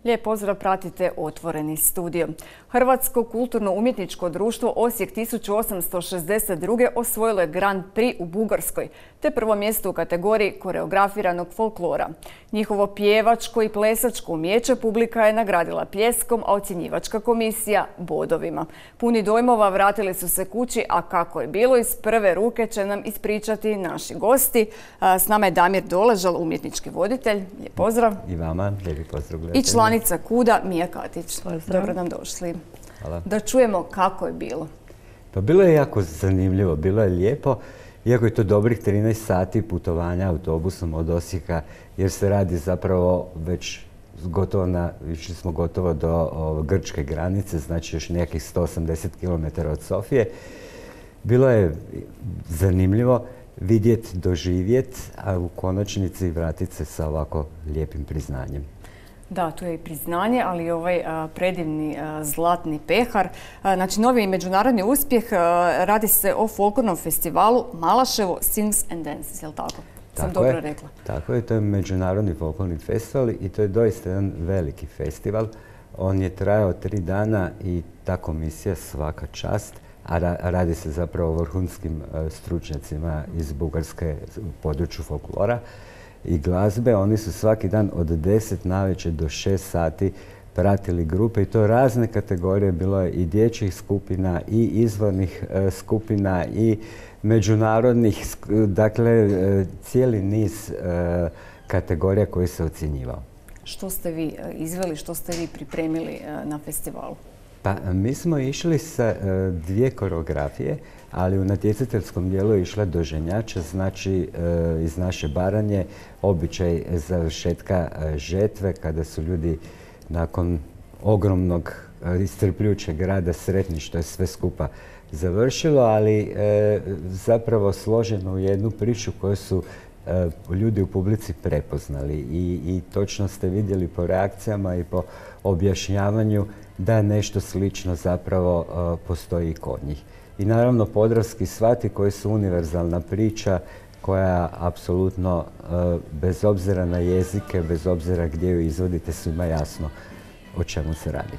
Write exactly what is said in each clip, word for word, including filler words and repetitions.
Lijep pozdrav, pratite Otvoreni studio. Hrvatsko kulturno-umjetničko društvo Osijek tisuću osamsto šezdeset druge osvojilo je Grand Prix u Bugarskoj, te prvo mjesto u kategoriji koreografiranog folklora. Njihovo pjevačko i plesačko umijeće publika je nagradila pljeskom, a ocjenjivačka komisija bodovima. Puni dojmova vratili su se kući, a kako je bilo iz prve ruke će nam ispričati naši gosti. S nama je Damir Doležal, umjetnički voditelj. Lijep pozdrav. I vama, lijepi pozdrav. I članica KUD-a Mija Katić. Pozdrav. Dobro nam došli. Hvala. Da čujemo kako je bilo. Pa bilo je jako zanimljivo, bilo je lijepo. Iako je to dobrih trinaest sati putovanja autobusom od Osijeka, jer se radi zapravo već gotovo na, išli smo gotovo do o, grčke granice, znači još nekih sto osamdeset kilometara od Sofije. Bilo je zanimljivo vidjeti, doživjeti, a u konačnici vratiti se sa ovako lijepim priznanjem. Da, tu je i priznanje, ali i ovaj a, predivni a, zlatni pehar. A, znači, novi međunarodni uspjeh, a, radi se o folklornom festivalu Malaševo Sings and Dances, je li tako? Sam Tako dobro je, rekla. Tako je, to je međunarodni folklorni festival i to je doista jedan veliki festival. On je trajao tri dana i ta komisija svaka čast, a ra radi se zapravo o vrhunskim a, stručnjacima iz Bugarske u području folklora i glazbe. Oni su svaki dan od deset navečer do šest sati pratili grupe i to razne kategorije. Bilo je i dječjih skupina i izvornih e, skupina i međunarodnih, dakle e, cijeli niz e, kategorija koji se ocjenjivao. Što ste vi e, izveli, što ste vi pripremili e, na festivalu? Pa mi smo išli sa e, dvije koreografije, ali u natjecateljskom dijelu je išla doženjača, znači e, iz naše Baranje, običaj završetka e, žetve, kada su ljudi nakon ogromnog e, iscrpljujućeg rada sretni što je sve skupa završilo, ali e, zapravo složeno u jednu priču koju su e, ljudi u publici prepoznali i, i točno ste vidjeli po reakcijama i po objašnjavanju da nešto slično zapravo e, postoji i kod njih. I naravno podravski svati koji su univerzalna priča koja apsolutno bez obzira na jezike, bez obzira gdje ju izvodite, svima jasno o čemu se radi.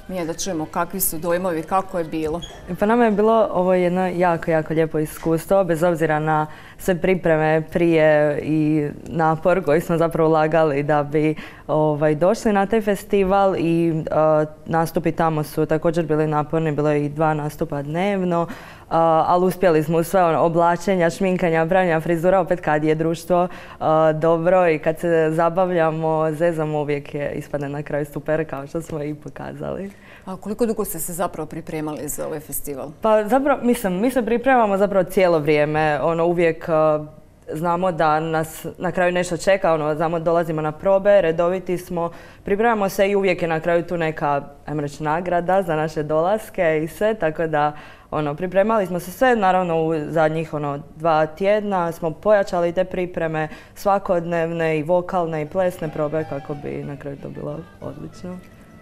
Mija, da čujemo kakvi su dojmovi, kako je bilo. Pa nama je bilo ovo jedno jako, jako lijepo iskustvo, bez obzira na sve pripreme prije i napor koji smo zapravo ulagali da bi ovaj, došli na taj festival i uh, nastupi tamo su također bili naporni, bilo je i dva nastupa dnevno, uh, ali uspjeli smo u sve ono, oblačenja, šminkanja, pravljenja frizura, opet kad je društvo uh, dobro i kad se zabavljamo, zezamo, uvijek je ispadne na kraju super, kao što smo i pokazali. A koliko dugo ste se zapravo pripremali za ovaj festival? Pa zapravo, mislim, mi se pripremamo zapravo cijelo vrijeme, ono uvijek uh, znamo da nas na kraju nešto čeka, ono, znamo dolazimo na probe, redoviti smo, pripremamo se i uvijek je na kraju tu neka, ajmo reći, nagrada za naše dolaske i sve, tako da ono, pripremali smo se sve, naravno u zadnjih ono, dva tjedna smo pojačali te pripreme svakodnevne i vokalne i plesne probe kako bi na kraju to bilo odlično.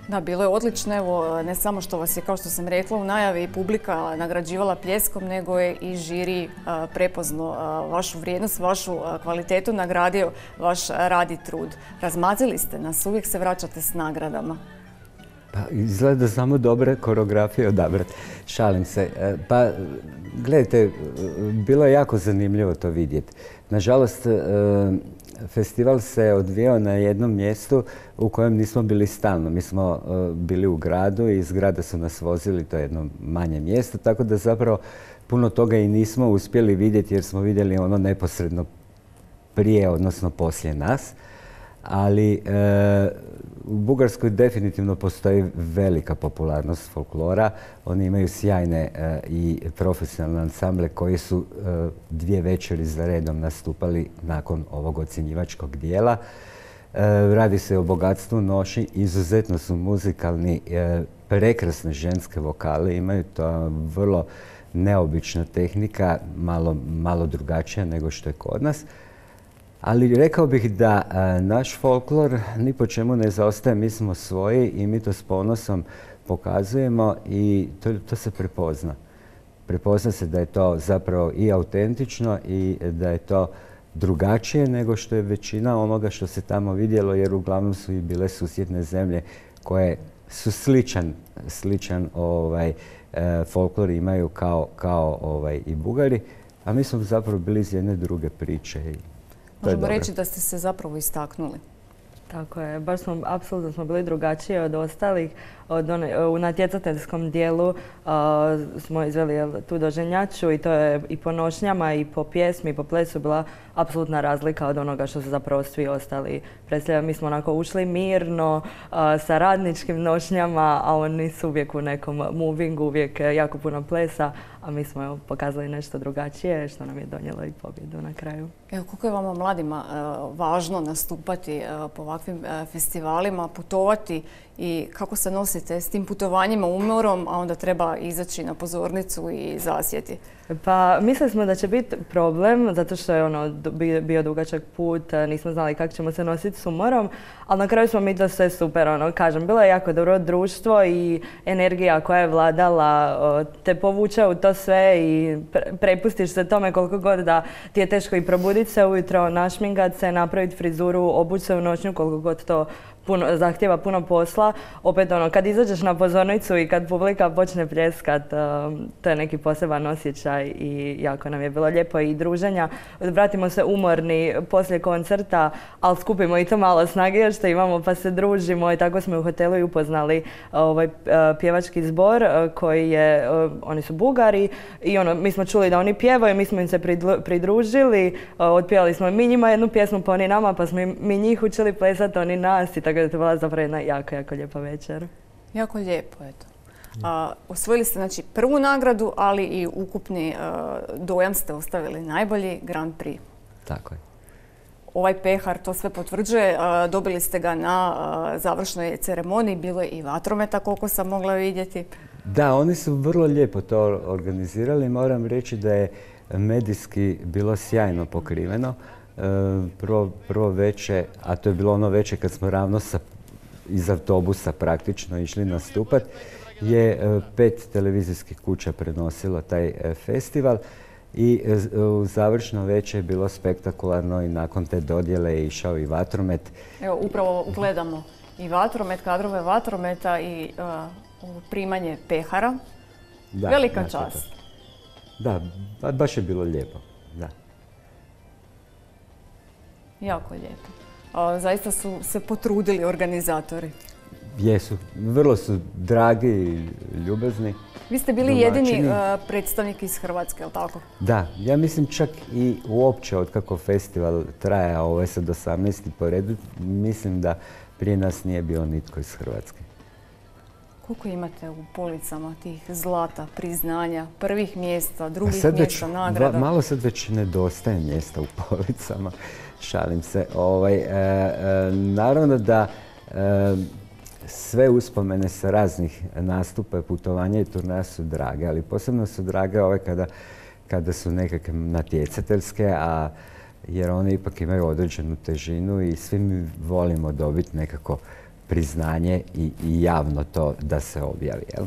Da, bilo je odlično. Evo, ne samo što vas je, kao što sam rekla, u najavi i publika nagrađivala pljeskom, nego je i žiri a, prepoznao a, vašu vrijednost, vašu a, kvalitetu, nagradio vaš rad i trud. Razmazili ste nas, uvijek se vraćate s nagradama. Pa izgleda samo dobre koreografije odabrati. Šalim se. Pa gledajte, bilo je jako zanimljivo to vidjeti. Nažalost, festival se odvijao na jednom mjestu u kojem nismo bili stalno. Mi smo uh, bili u gradu i iz grada su nas vozili, to je jedno manje mjesto, tako da zapravo puno toga i nismo uspjeli vidjeti jer smo vidjeli ono neposredno prije, odnosno poslije nas. Ali uh, u Bugarskoj definitivno postoji velika popularnost folklora. Oni imaju sjajne uh, i profesionalne ansamble koji su uh, dvije večeri za redom nastupali nakon ovog ocjenjivačkog dijela. Uh, radi se o bogatstvu noši, izuzetno su muzikalni, uh, prekrasne ženske vokale, imaju to vrlo neobična tehnika, malo, malo drugačija nego što je kod nas. Ali rekao bih da a, naš folklor ni po čemu ne zaostaje, mi smo svoji i mi to s ponosom pokazujemo i to, to se prepozna. Prepozna se da je to zapravo i autentično i da je to drugačije nego što je većina onoga što se tamo vidjelo, jer uglavnom su i bile susjedne zemlje koje su sličan, sličan ovaj, e, folklor imaju kao, kao ovaj, i Bugari, a mi smo zapravo bili iz jedne druge priče. I to Možemo je reći da ste se zapravo istaknuli. Tako je, baš smo, apsolutno smo bili drugačiji od ostalih. Od one, u natjecateljskom dijelu uh, smo izveli tu doženjaču i to je i po nošnjama i po pjesmi i po plesu bila apsolutna razlika od onoga što su zapravo svi ostali predstavljali. Mi smo onako ušli mirno uh, sa radničkim nošnjama, a oni su uvijek u nekom movingu, uvijek jako puno plesa, a mi smo evo, pokazali nešto drugačije što nam je donijelo i pobjedu na kraju. Evo, koliko je vama mladima uh, važno nastupati uh, po ovakvim uh, festivalima, putovati i kako se nosite s tim putovanjima, umorom, a onda treba izaći na pozornicu i zasjeti? Pa mislili smo da će biti problem, zato što je ono bio dugačak put, nismo znali kako ćemo se nositi s umorom, ali na kraju smo mi to sve super, ono, kažem, bilo je jako dobro društvo i energija koja je vladala te povuče u to sve i prepustiš se tome koliko god da ti je teško i probuditi se ujutro, našmingat se, napraviti frizuru, obući se u noćnju, koliko god to Puno, zahtjeva puno posla. Opet ono, kad izađeš na pozornicu i kad publika počne pljeskat, um, to je neki poseban osjećaj i jako nam je bilo lijepo i druženja. Vratimo se umorni poslije koncerta, ali skupimo i to malo snage još što imamo pa se družimo i tako smo u hotelu i upoznali ovaj uh, pjevački zbor uh, koji je, uh, oni su Bugari i ono, mi smo čuli da oni pjevaju, mi smo im se pridružili, uh, otpjevali smo mi njima jednu pjesmu pa oni nama, pa smo mi njih učili plesati, oni nas i tako da je to bila zapravo jedna jako, jako lijepa večer. Jako lijepo, eto. A, osvojili ste znači, prvu nagradu, ali i ukupni a, dojam ste ostavili najbolji Grand Prix. Tako je. Ovaj pehar to sve potvrđuje. A, dobili ste ga na a, završnoj ceremoniji, bilo je i vatrometa koliko sam mogla vidjeti. Da, oni su vrlo lijepo to organizirali. Moram reći da je medijski bilo sjajno pokriveno. Prvo, prvo veče, a to je bilo ono veče kad smo ravno sa, iz autobusa praktično išli nastupat, je pet televizijskih kuća prenosilo taj festival i u završno veče je bilo spektakularno i nakon te dodjele je išao i vatromet. Evo, upravo gledamo i vatromet, kadrove vatrometa i uh, primanje pehara. Da, velika da, čast. Da, baš je bilo lijepo. Da. Jako lijepo. A, zaista su se potrudili organizatori. Jesu. Vrlo su dragi i ljubazni. Vi ste bili domaćini. jedini uh, predstavnik iz Hrvatske, je li tako? Da. Ja mislim čak i uopće od kako festival traja, ovo je sad osamnaesti po redu, mislim da prije nas nije bio nitko iz Hrvatske. Koliko imate u policama tih zlata, priznanja, prvih mjesta, drugih sad mjesta, već, nagrada? Malo sad već nedostaje mjesta u policama. Šalim se. Ovaj, e, e, naravno da e, sve uspomene sa raznih nastupa, putovanja i turneja su drage, ali posebno su drage ove kada, kada su nekakve natjecateljske, a jer one ipak imaju određenu težinu i svi mi volimo dobiti nekako priznanje i, i javno to da se objavi. Jel?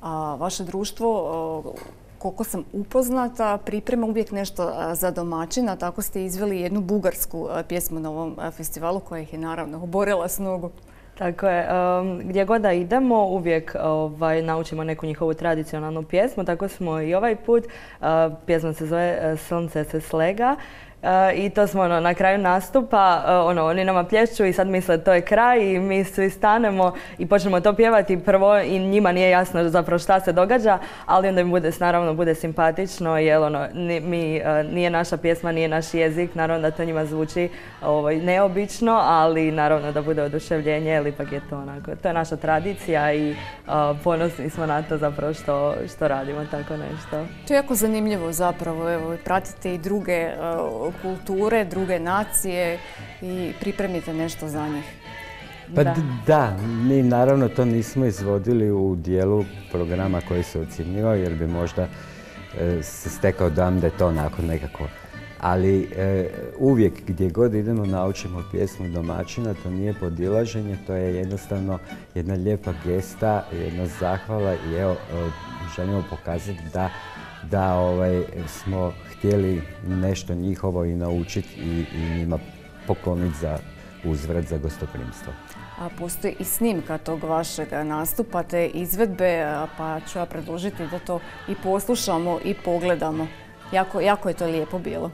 A vaše društvo, koliko sam upoznata, priprema uvijek nešto za domaćina. Tako ste izveli jednu bugarsku pjesmu na ovom festivalu koja ih je naravno oborila s nogu. Tako je. Um, gdje god da idemo, uvijek ovaj, naučimo neku njihovu tradicionalnu pjesmu. Tako smo i ovaj put. Uh, pjesma se zove Sunce se slega. Uh, I to smo ono, na kraju nastupa, uh, ono, oni nama plješću i sad misle to je kraj i mi svi stanemo i počnemo to pjevati prvo i njima nije jasno zapravo šta se događa, ali onda im bude, naravno bude simpatično jer ono, ni, mi, uh, nije naša pjesma, nije naš jezik, naravno da to njima zvuči ovaj, neobično, ali naravno da bude oduševljenje jer ipak je to onako, to je naša tradicija i uh, ponosni smo na to zapravo što, što radimo tako nešto. To je jako zanimljivo zapravo, evo, pratite i druge uh, kulture, druge nacije i pripremite nešto za njih. Pa da. da, mi naravno to nismo izvodili u dijelu programa koji se ocjenjivao jer bi možda e, se stekao dojam da je to onako nekako. Ali e, uvijek gdje god idemo naučimo pjesmu domaćina, to nije podilaženje, to je jednostavno jedna lijepa gesta, jedna zahvala i evo e, želimo pokazati da da ovaj, smo htjeli nešto njihovo i naučiti i, i njima pokloniti za uzvrat za gostoprimstvo. A postoji i snimka tog vašeg nastupa, te izvedbe, pa ću ja predložiti da to i poslušamo i pogledamo. Jako, jako je to lijepo bilo.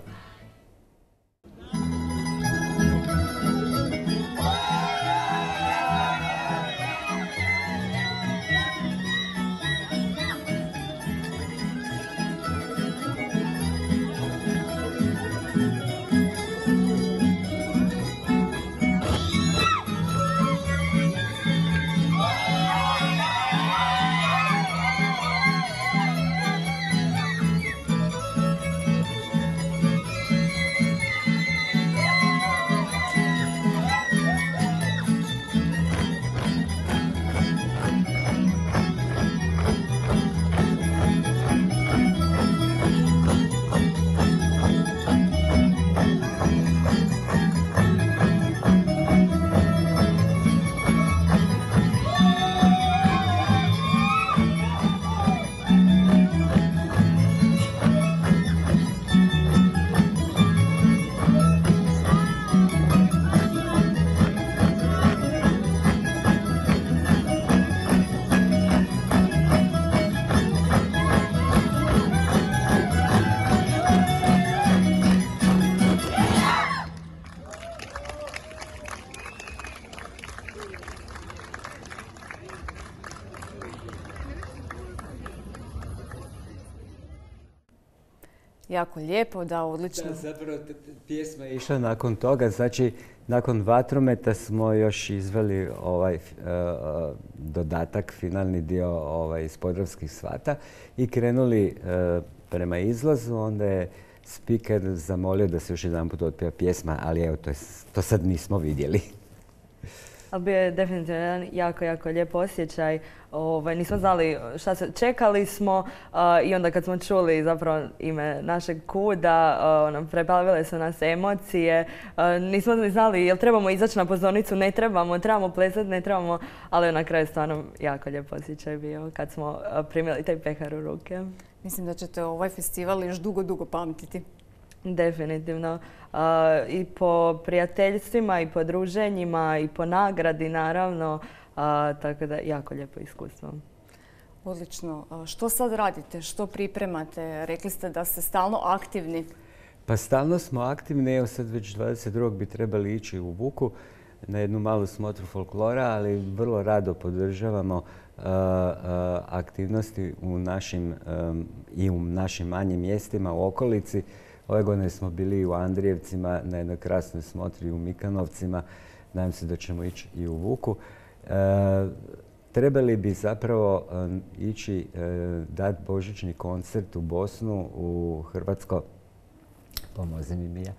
Jako lijepo, da, odlično. Da, zapravo pjesma je išla nakon toga, znači nakon Vatrometa smo još izveli ovaj uh, dodatak, finalni dio ovaj, iz Podravskih svata i krenuli uh, prema izlazu, onda je spiker zamolio da se još jedan put otpjeva pjesma, ali evo, to, je, to sad nismo vidjeli. Ali bio je definitivno jedan jako, jako lijep osjećaj. Ovaj, nismo znali šta se... Čekali smo uh, i onda kad smo čuli zapravo ime našeg kuda, uh, ono, preplavile su nas emocije. Uh, nismo ni znali jel trebamo izaći na pozornicu, ne trebamo, trebamo plesati, ne trebamo. Ali na kraju stvarno jako lijep osjećaj bio kad smo uh, primili taj pehar u ruke. Mislim da ćete ovaj festival još dugo, dugo pamtiti. Definitivno. Uh, I po prijateljstvima, i po druženjima, i po nagradi, naravno. Uh, tako da, jako lijepo iskustvo. Odlično. A što sad radite? Što pripremate? Rekli ste da ste stalno aktivni. Pa stalno smo aktivni. Evo sad već dvadeset drugog bi trebali ići u Vuku na jednu malu smotru folklora, ali vrlo rado podržavamo uh, uh, aktivnosti u našim, um, i u našim manjim mjestima u okolici. Ove godine smo bili u Andrijevcima na jednoj krasnoj smotri u Mikanovcima. Nadam se da ćemo ići i u Vuku. E, trebali bi zapravo e, ići e, dati božićni koncert u Bosnu, u Hrvatsko, pomozi mi Mija.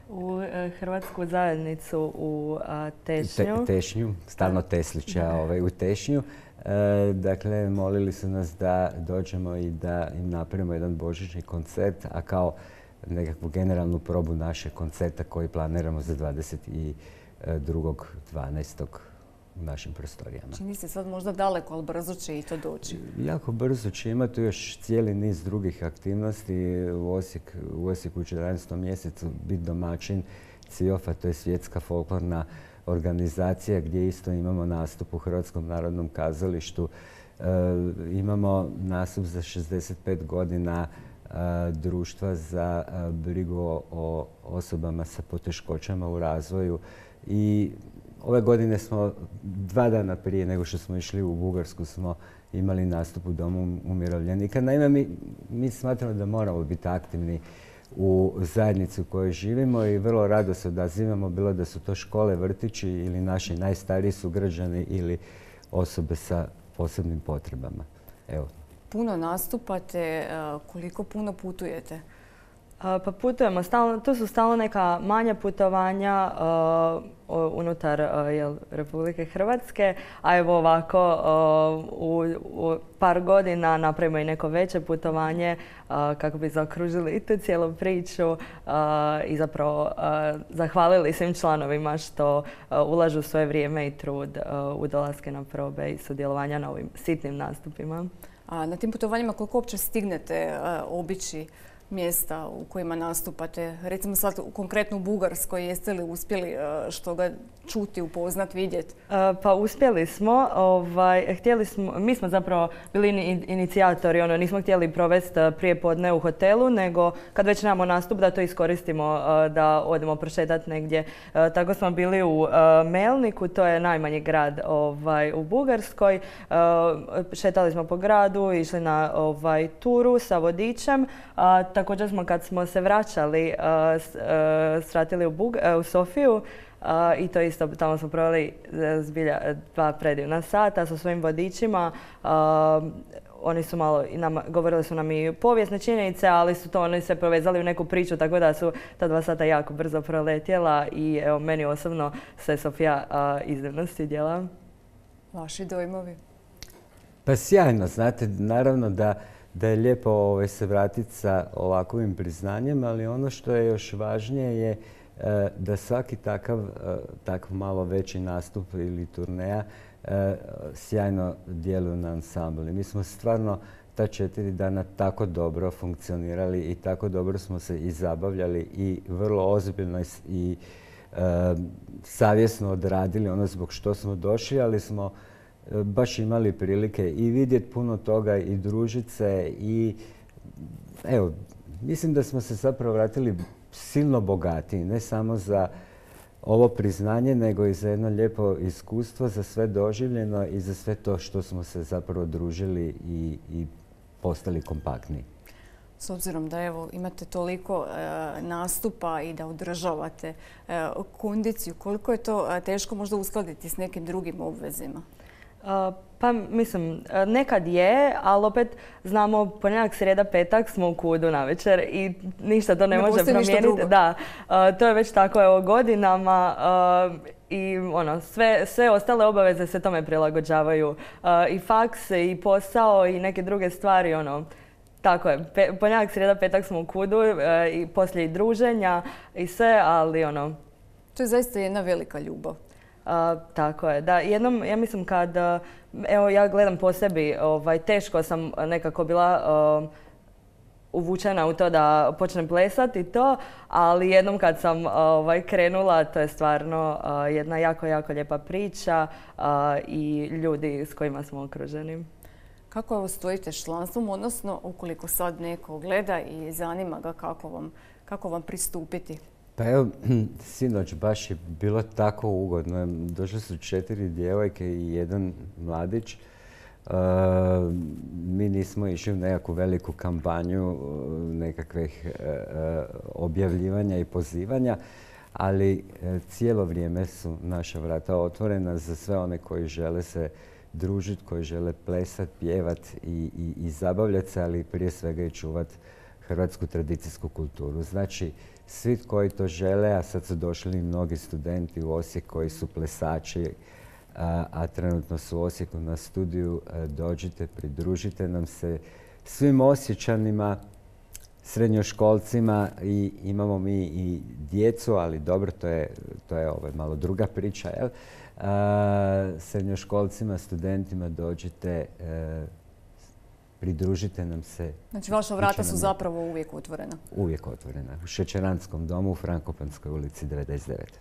U e, Hrvatsku zajednicu u a, Tešnju. Te, tešnju, stalno Teslića ovaj, u Tešnju. E, dakle, molili su nas da dođemo i da im napravimo jedan božićni koncert, a kao nekakvu generalnu probu našeg koncerta koji planiramo za dvadeset drugog dvanaestog u našim prostorijama. Čini se sad možda daleko, ali brzo će i to doći. Jako brzo će imati još cijeli niz drugih aktivnosti. U, Osijek, u Osijeku u četrnaestom mjesecu biti domaćin C I O F-a, to je svjetska folklorna organizacija gdje isto imamo nastup u Hrvatskom narodnom kazalištu. E, imamo nastup za šezdeset pet godina društva za brigu o osobama sa poteškoćama u razvoju. I ove godine smo, dva dana prije nego što smo išli u Bugarsku, smo imali nastup u Domu umirovljenika. Naime, mi, mi smatramo da moramo biti aktivni u zajednici u kojoj živimo i vrlo rado se odazivamo, bilo da su to škole, vrtići ili naši najstariji sugrađani ili osobe sa posebnim potrebama. Evo. Puno nastupate, koliko puno putujete? Pa putujemo stalno, to su stalno neka manja putovanja uh, unutar uh, jel, Republike Hrvatske, a evo ovako uh, u, u par godina napravimo i neko veće putovanje uh, kako bi zaokružili i tu cijelu priču uh, i zapravo uh, zahvalili svim članovima što uh, ulažu svoje vrijeme i trud uh, u dolaske na probe i sudjelovanja na ovim sitnim nastupima. A na tim putovanjima koliko uopće stignete obići mjesta u kojima nastupate? Recimo sad konkretno u Bugarskoj, jeste li uspjeli što ga čuti, upoznat, vidjeti? Pa uspjeli smo. Ovaj, htjeli smo, mi smo zapravo bili inicijatori, ono, nismo htjeli provesti prije podne u hotelu, nego kad već nemamo nastup da to iskoristimo da odemo prošetati negdje. Tako smo bili u Melniku, to je najmanji grad ovaj, u Bugarskoj. Šetali smo po gradu, išli na ovaj, turu sa vodičem. Također smo kad smo se vraćali, svratili u, Bug, u Sofiju, Uh, i to isto, tamo smo proveli zbilja dva predivna sata sa svojim vodičima. Uh, oni su malo, nam, govorili su nam i povijesne činjenice, ali su to oni se povezali u neku priču, tako da su ta dva sata jako brzo proletjela i evo, meni osobno se Sofija uh, iznimno svidjela. Vaši dojmovi? Pa sjajno, znate, naravno da, da je lijepo ovaj, se vratiti sa ovakvim priznanjem, ali ono što je još važnije je da svaki takav, takav malo veći nastup ili turneja sjajno djeluju na ansambl. Mi smo stvarno ta četiri dana tako dobro funkcionirali i tako dobro smo se i zabavljali i vrlo ozbiljno i savjesno odradili ono zbog što smo došli, ali smo baš imali prilike i vidjeti puno toga i družiti se i evo, mislim da smo se zapravo vratili silno bogatiji, ne samo za ovo priznanje, nego i za jedno lijepo iskustvo, za sve doživljeno i za sve to što smo se zapravo družili i, i postali kompaktni. S obzirom da evo, imate toliko e, nastupa i da održavate e, kondiciju, koliko je to teško možda uskladiti s nekim drugim obvezima? Uh, pa mislim, nekad je, ali opet znamo ponedjeljak, srijeda, petak smo u Kudu navečer i ništa to ne, ne može promijeniti. Da, uh, to je već tako evo, godinama uh, i ono, sve, sve ostale obaveze se tome prilagođavaju. Uh, I faks, i posao, i neke druge stvari. Ono, tako je, Pe, ponedjeljak, srijeda, petak smo u Kudu uh, i poslije i druženja i sve, ali ono... To je zaista jedna velika ljubav. Uh, tako je, da. Jednom, ja mislim kad, uh, evo ja gledam po sebi, ovaj, teško sam nekako bila uh, uvučena u to da počnem plesati i to, ali jednom kad sam uh, ovaj, krenula, to je stvarno uh, jedna jako, jako lijepa priča uh, i ljudi s kojima smo okruženi. Kako ovo stojite s članstvom, odnosno ukoliko sad neko gleda i zanima ga kako vam, kako vam pristupiti? Pa evo, sinoć baš je bilo tako ugodno. Došle su četiri djevojke i jedan mladić. Uh, mi nismo išli u nekakvu veliku kampanju nekakvih uh, objavljivanja i pozivanja, ali uh, cijelo vrijeme su naša vrata otvorena za sve one koji žele se družiti, koji žele plesati, pjevati i, i, i zabavljati se, ali prije svega i čuvati hrvatsku tradicijsku kulturu. Znači, svi koji to žele, a sad su došli mnogi studenti u Osijek koji su plesači, a, a trenutno su u Osijeku na studiju, dođite, pridružite nam se svim Osječanima, srednjoškolcima i imamo mi i djecu, ali dobro, to je, to je ovaj, malo druga priča, jel? A, srednjoškolcima, studentima dođite, e, pridružite nam se. Znači, vaša vrata su zapravo uvijek otvorena? Uvijek otvorena. U Šećeranskom domu u Frankopanskoj ulici devedeset devet.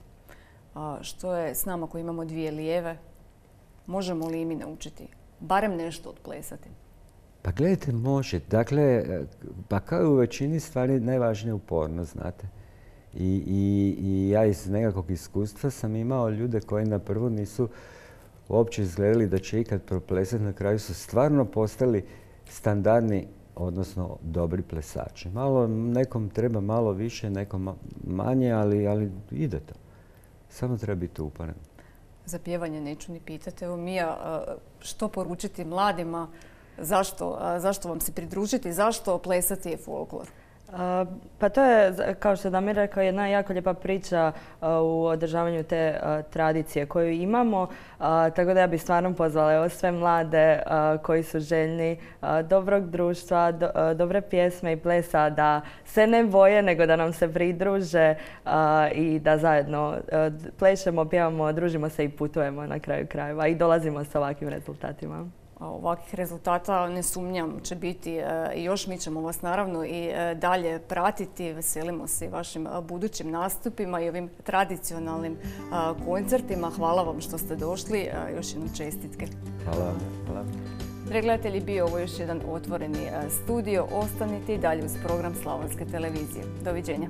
A što je s nama koji imamo dvije lijeve? Možemo li i mi naučiti barem nešto odplesati? Pa gledajte, može. Dakle, pa kao i u većini stvari najvažnije je upornost, znate. I, i, i ja iz nekakvog iskustva sam imao ljude koji na prvu nisu uopće izgledali da će ikad proplesati. Na kraju su stvarno postali standardni, odnosno dobri plesači. Malo, nekom treba malo više, nekom manje, ali, ali ide to. Samo treba biti uporan. Za pjevanje neću ni pitati. Evo, Mija, što poručiti mladima? Zašto, zašto vam se pridružiti? Zašto plesati je folklor? Uh, pa to je, kao što je Damir rekao, jedna jako lijepa priča uh, u održavanju te uh, tradicije koju imamo. Uh, tako da ja bih stvarno pozvala evo, sve mlade uh, koji su željni uh, dobrog društva, do, uh, dobre pjesme i plesa, da se ne boje, nego da nam se pridruže uh, i da zajedno uh, plešemo, pjevamo, družimo se i putujemo na kraju krajeva i dolazimo sa ovakvim rezultatima. ovakvih rezultata ne sumnjam će biti i još. Mi ćemo vas naravno i dalje pratiti. Veselimo se i vašim budućim nastupima i ovim tradicionalnim koncertima. Hvala vam što ste došli. Još jednom čestitke. Hvala. Hvala. Dragi gledatelji, bio ovo još jedan otvoreni studio. Ostanite i dalje uz program Slavonske televizije. Doviđenja.